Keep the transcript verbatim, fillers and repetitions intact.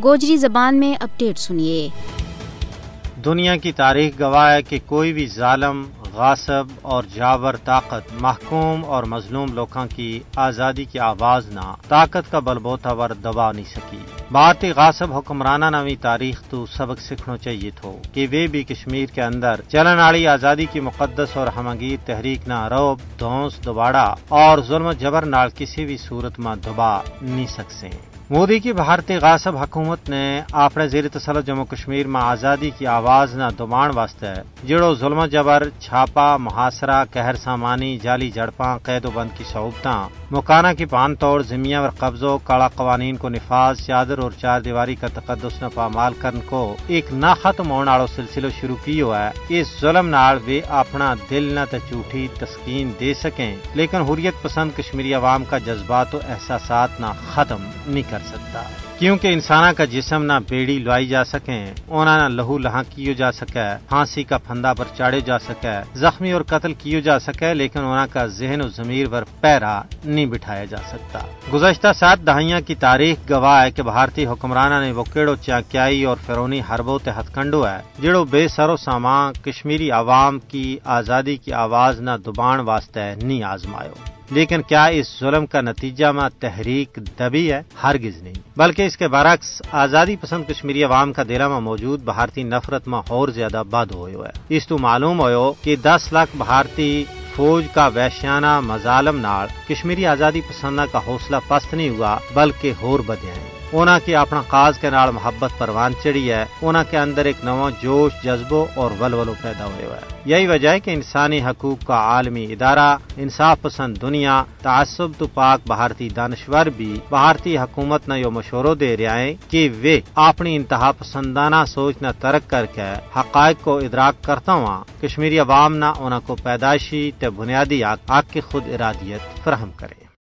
گوجری زبان میں اپڈیٹ سنیے۔ دنیا کی تاریخ گواہ ہے کہ کوئی بھی ظالم، غاصب اور جاور طاقت محکوم اور مظلوم لوکاں کی آزادی کی آواز نا طاقت کا بل بوتا ور دبا نہیں سکی۔ بھارتی غاصب حکمراناں نا وی تاریخ تو سبق سکھنو چاہیے تھو کہ ویہ بھی کشمیر کے اندر چلن آڑی آزادی کی مقدس اور ہمگیر تحریک نا روب، دھونس، دباڑا اور ظلم و جبر نال کسی بھی صورت ما دبا نہیں سکسیں۔ مودی کی بھارتی غاصب حکومت نے آپڑے زیر تسلط جموں کشمیر ما آزادی کی آواز نا دبان واسطے جیڑو ظلم و جبر، چھاپا، محاصرہ، قہر سامانی، جعلی جھڑپاں، قید و بند کی صعوبتاں، مکاناں کی پان توڑ، زمیاں ور قبضو، کالا قوانین کو نفاذ، چادر اور چار دیواری کا تقدس نا پامال کرن کو ایک نہ ختم ہون آڑو سلسلو شروع کیو ہے، اس ظلم نال ویہ اپنا دل نا تے جھوٹی تسکین دے سکیں، لیکن حریت پسند کشمیری عوام کا جذبات و احساسات نا ختم نہیں کر سکتا۔ کیونکہ انساناں کا جسم نا بیڑی لوائی جا سکیں، انہاں نا لہو لہاں کیو جا سکے، پھانسی کا پھندا پر چاڑھیو جا سکے، زخمی اور قتل کیو جا سکے، لیکن انہاں کا ذہن و ضمیر ور پیرا نہیں بٹھایا جا سکتا۔ گزشتہ سات دہائیاں کی تاریخ گواہ ہے کہ بھارتی حکمراناں نے وہ کیڑو چانکیائی اور فرونی حربو تے ہتھ کنڈو ہے جیڑو بے سر و سامان کشمیری عوام کی آزادی کی آواز نا دبان واسطے نہیں آزمایو۔ لیکن کیا اس ظلم کا نتیجہ ما تحریک دبی ہے؟ ہرگز نہیں، بلکہ اس کے برعکس آزادی پسند کشمیری عوام کا دلاں ما موجود بھارتی نفرت ما ہور زیادہ بد ہویو ہے۔ اس تو معلوم ہویو کہ دس لاکھ بھارتی فوج کا وحشیانہ مظالم نال کشمیری آزادی پسنداں کا حوصلہ پست نہیں ہوا، بلکہ ہور بدھیا ہیں۔ انہاں کی اپنا قاز کے نال محبت پروان چڑھی ہے۔ انہاں کے اندر ایک نواں جوش، جذبو اور ولولو پیدا ہویو ہے۔ یہی وجہ ہے کہ انسانی حقوق کا عالمی ادارہ، انصاف پسند دنیا، تعصب تو پاک بھارتی دانشور بھی بھارتی حکومت نا یوہ مشورو دے رہیا ہیں کہ ویہ اپنی انتہا پسندانہ سوچ نا ترک کر کے حقائق کو ادراک کرتا ہوا کشمیری عوام نا انہاں کو پیدائشی تے بنیادی حق، حق کی خود ارادیت فراہم کریں۔